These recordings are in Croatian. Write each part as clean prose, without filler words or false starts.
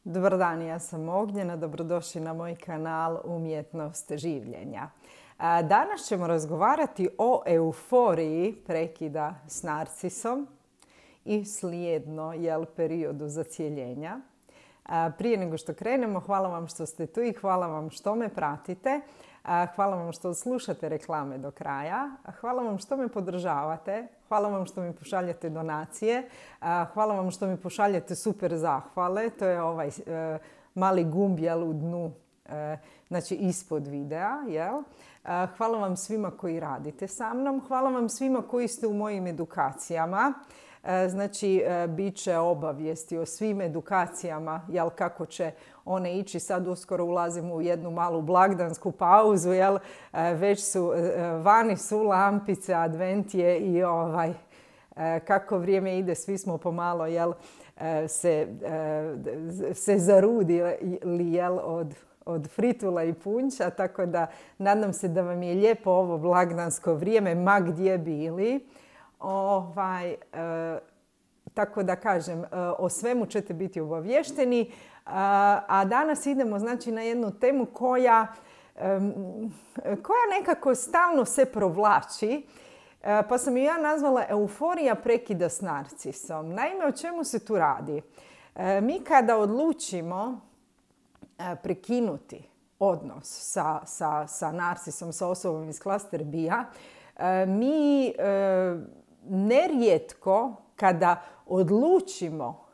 Dobar dan, ja sam Ognjena, dobrodošli na moj kanal Umjetnost življenja. Danas ćemo razgovarati o euforiji prekida s narcisom i slijedno periodu zacijeljenja. Prije nego što krenemo, hvala vam što ste tu i hvala vam što me pratite. Hvala vam što slušate reklame do kraja. Hvala vam što me podržavate. Hvala vam što mi pošaljete donacije. Hvala vam što mi pošaljete super zahvale. To je ovaj mali gumb u dnu, znači ispod videa. Hvala vam svima koji radite sa mnom. Hvala vam svima koji ste u mojim edukacijama. Znači, bit će obavijesti o svim edukacijama, kako će one ići. Sad uskoro ulazimo u jednu malu blagdansku pauzu, već su, vani su lampice, advent je i kako vrijeme ide, svi smo pomalo, se zarudili, od fritula i punča, tako da nadam se da vam je lijepo ovo blagdansko vrijeme, ma gdje bili. Tako da kažem, o svemu ćete biti obavješteni. A danas idemo na jednu temu koja nekako stalno se provlači. Pa sam ju ja nazvala euforija prekida s narcisom. Naime, o čemu se tu radi? Mi kada odlučimo prekinuti odnos sa narcisom, sa osobom iz klaster B-a, mi nerijetko kada odlučimo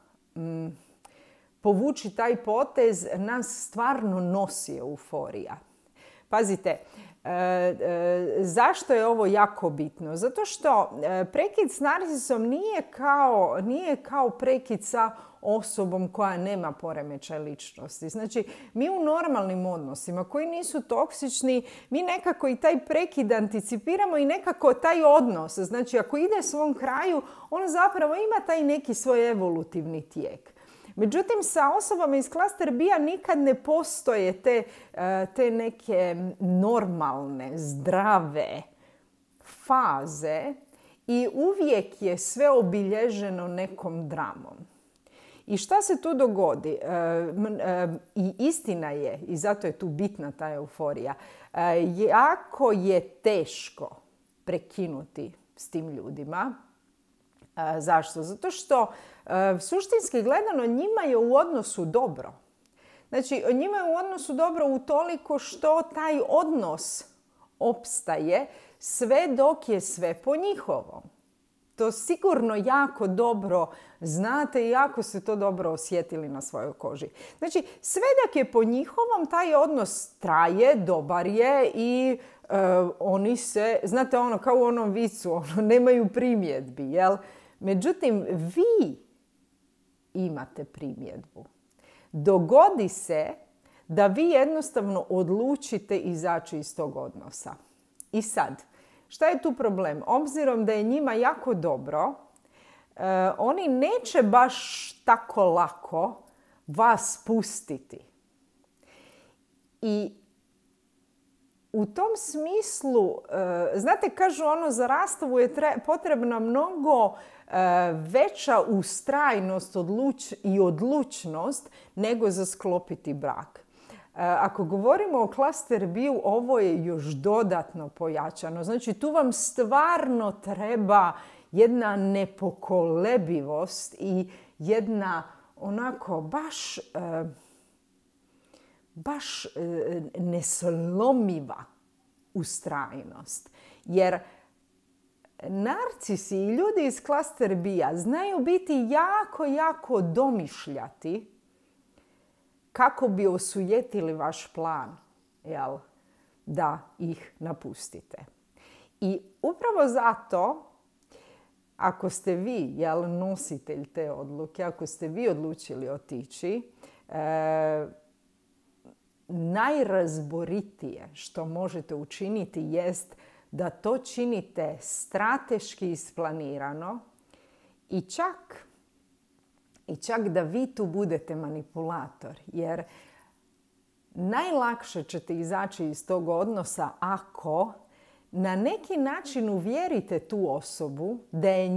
povući taj potez, nas stvarno nosi euforija. Pazite, zašto je ovo jako bitno? Zato što prekid s narcisom nije kao prekid sa osobom koja nema poremećaj ličnosti. Znači, mi u normalnim odnosima koji nisu toksični, mi nekako i taj prekid anticipiramo i nekako taj odnos, znači ako ide svom kraju, on zapravo ima taj neki svoj evolutivni tijek. Međutim, sa osobama iz klaster B-a nikad ne postoje te neke normalne, zdrave faze i uvijek je sve obilježeno nekom dramom. I šta se tu dogodi? I istina je, i zato je tu bitna ta euforija, jako je teško prekinuti s tim ljudima. Zašto? Zato što suštinski gledano njima je u odnosu dobro. Znači, njima je u odnosu dobro utoliko što taj odnos opstaje sve dok je sve po njihovom. To sigurno jako dobro znate i jako ste to dobro osjetili na svojoj koži. Znači, sve dok je po njihovom, taj odnos traje, dobar je i oni se, znate kao u onom vicu, nemaju primjedbi, Međutim, vi imate primjedbu. Dogodi se da vi jednostavno odlučite izaći iz tog odnosa. I sad, šta je tu problem? Obzirom da je njima jako dobro, oni neće baš tako lako vas pustiti. I u tom smislu, znate, kažu za rastavu je potrebna mnogo veća ustrajnost i odlučnost nego za sklopiti brak. Ako govorimo o klaster B-u, ovo je još dodatno pojačano. Znači, tu vam stvarno treba jedna nepokolebivost i jedna onako baš neslomiva ustrajnost. Jer narcisi i ljudi iz klaster B-a znaju biti jako domišljati kako bi osujetili vaš plan, da ih napustite. I upravo zato, ako ste vi nositelj te odluke, ako ste vi odlučili otići, najrazboritije što možete učiniti jest da to činite strateški isplanirano i čak da vi tu budete manipulator. Jer najlakše ćete izaći iz tog odnosa ako na neki način uvjerite tu osobu da je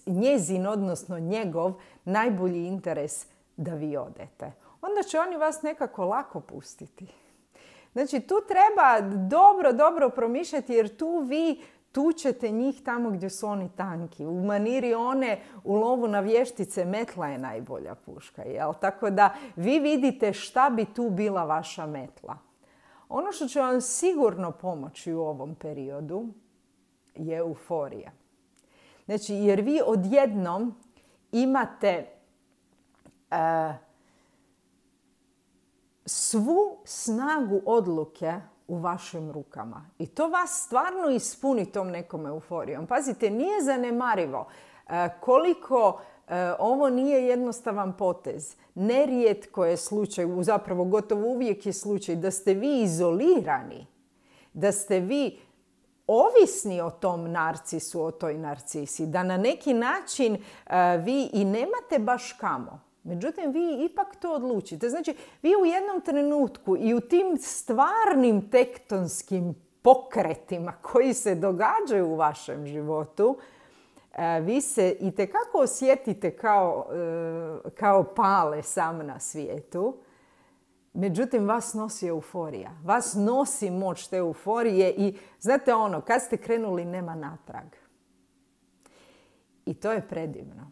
njezin, odnosno njegov, najbolji interes da vi odete. onda će oni vas nekako lako pustiti. Znači, tu treba dobro promišljati jer tu vi tučete njih tamo gdje su oni tanki. U maniri one u lovu na vještice metla je najbolja puška. Jel? Tako da vi vidite šta bi tu bila vaša metla. Ono što će vam sigurno pomoći u ovom periodu je euforija. Znači, jer vi odjednom imate svu snagu odluke u vašim rukama. I to vas stvarno ispuni tom nekom euforijom. Pazite, nije zanemarivo koliko ovo nije jednostavan potez. Nerijetko je slučaj, zapravo gotovo uvijek je slučaj da ste vi izolirani, da ste vi ovisni o tom narcisu, o toj narcisi, da na neki način vi i nemate baš kamo. Međutim, vi ipak to odlučite. Znači, vi u jednom trenutku i u tim stvarnim tektonskim pokretima koji se događaju u vašem životu, vi se itekako osjetite kao pale sam na svijetu. Međutim, vas nosi euforija. Vas nosi moć te euforije i znate ono, kad ste krenuli nema natrag. I to je predivno.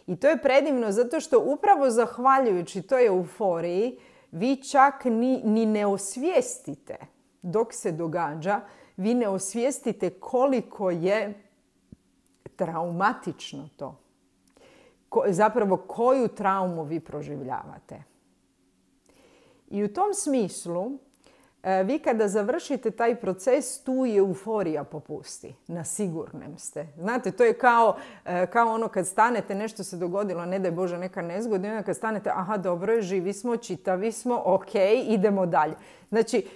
I to je predivno zato što upravo zahvaljujući toj euforiji vi čak ni ne osvijestite dok se događa, vi ne osvijestite koliko je traumatično to. Zapravo koju traumu vi proživljavate. I u tom smislu vi kada završite taj proces, tu je euforija popusti. Na sigurnem ste. Znate, to je kao ono kad stanete, nešto se dogodilo, ne daj Bože neka nezgoda, i onda kad stanete, aha, dobro je, živi smo, čitavi smo, ok, idemo dalje. Znači,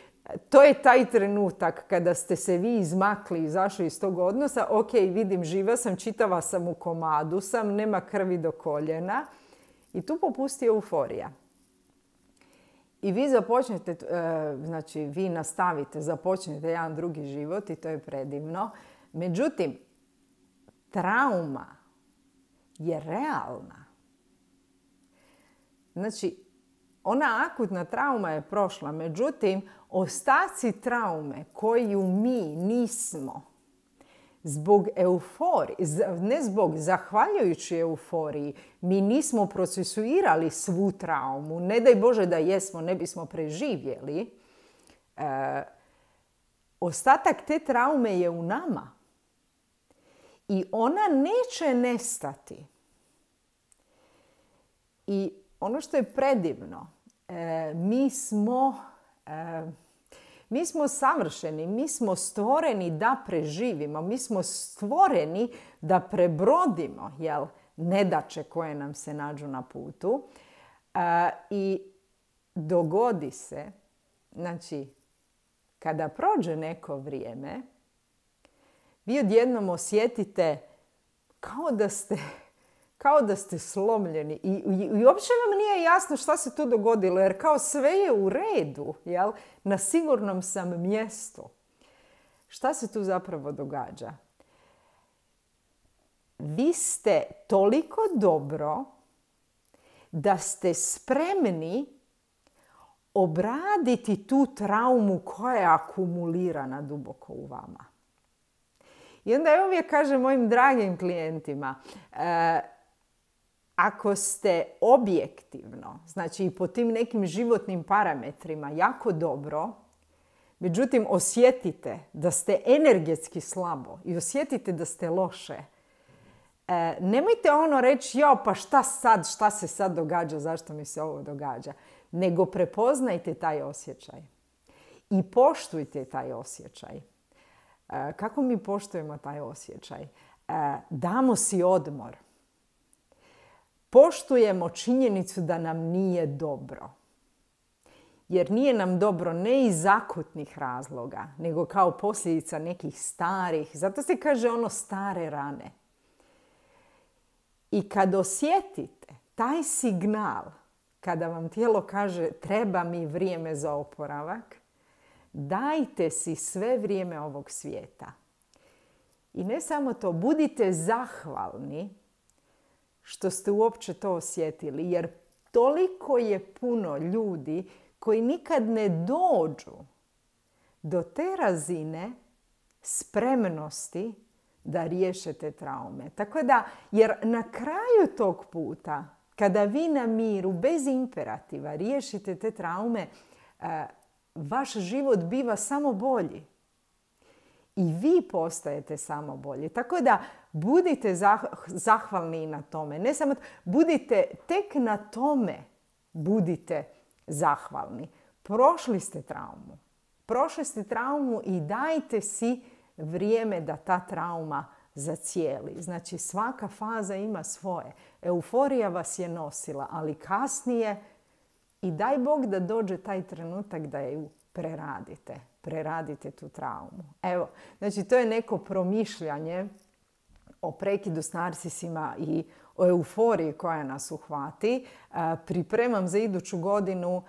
to je taj trenutak kada ste se vi izmakli, izašli iz tog odnosa, ok, vidim, živa sam, čitava sam, u komadu sam, nema krvi do koljena i tu popusti euforija. I vi započnete, znači vi nastavite, započnete jedan drugi život i to je predivno. Međutim, trauma je realna. Znači, ona akutna trauma je prošla, međutim, ostaci traume koju mi nismo zbog euforije, zahvaljujući euforiji, mi nismo procesuirali svu traumu. Ne daj Bože da jesmo, ne bismo preživjeli. Ostatak te traume je u nama. I ona neće nestati. I ono što je predivno, mi smo savršeni, mi smo stvoreni da preživimo, mi smo stvoreni da prebrodimo nedaće koje nam se nađu na putu. I dogodi se, znači, kada prođe neko vrijeme, vi odjednom osjetite kao da ste slomljeni i uopće vam nije jasno šta se tu dogodilo, jer kao sve je u redu, jel? Na sigurnom sam mjestu. Šta se tu zapravo događa? Vi ste toliko dobro da ste spremni obraditi tu traumu koja je akumulirana duboko u vama. I onda ja uvijek kažem mojim dragim klijentima, ako ste objektivno, znači i po tim nekim životnim parametrima jako dobro, međutim osjetite da ste energetski slabo i osjetite da ste loše, nemojte ono reći, pa šta se sad događa, zašto mi se ovo događa, nego prepoznajte taj osjećaj i poštujte taj osjećaj. Kako mi poštujemo taj osjećaj? Damo si odmor. Poštujemo činjenicu da nam nije dobro. Jer nije nam dobro ne iz akutnih razloga, nego kao posljedica nekih starih. Zato se kaže ono stare rane. I kad osjetite taj signal, kada vam tijelo kaže treba mi vrijeme za oporavak, dajte si sve vrijeme ovog svijeta. I ne samo to, budite zahvalni što ste uopće to osjetili. Jer toliko je puno ljudi koji nikad ne dođu do te razine spremnosti da riješe te traume. Tako da, jer na kraju tog puta, kada vi na miru, bez imperativa, riješite te traume, vaš život biva samo bolji. I vi postajete samo bolji. Tako da budite zahvalni na tome. Ne samo budite tek na tome, budite zahvalni. Prošli ste traumu. Prošli ste traumu i dajte si vrijeme da ta trauma zacijeli. Znači svaka faza ima svoje. Euforija vas je nosila, ali kasnije i daj Bog da dođe taj trenutak da ju preradite. Preradite tu traumu. Evo, znači to je neko promišljanje o prekidu s narsisima i o euforiji koja nas uhvati. Pripremam za iduću godinu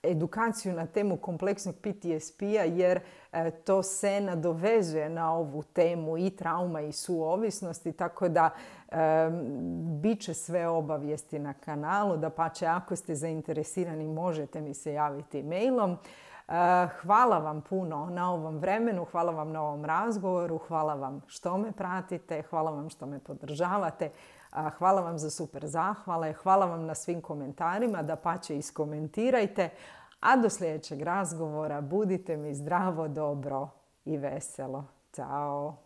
edukaciju na temu kompleksnog PTSP-a jer to se nadovezuje na ovu temu i trauma i suovisnosti, tako da bit će sve obavijesti na kanalu. Dapače, ako ste zainteresirani možete mi se javiti mailom. Hvala vam puno na ovom vremenu, hvala vam na ovom razgovoru, hvala vam što me pratite, hvala vam što me podržavate, hvala vam za super zahvale, hvala vam na svim komentarima, dapače iskomentirajte, a do sljedećeg razgovora budite mi zdravo, dobro i veselo. Ćao!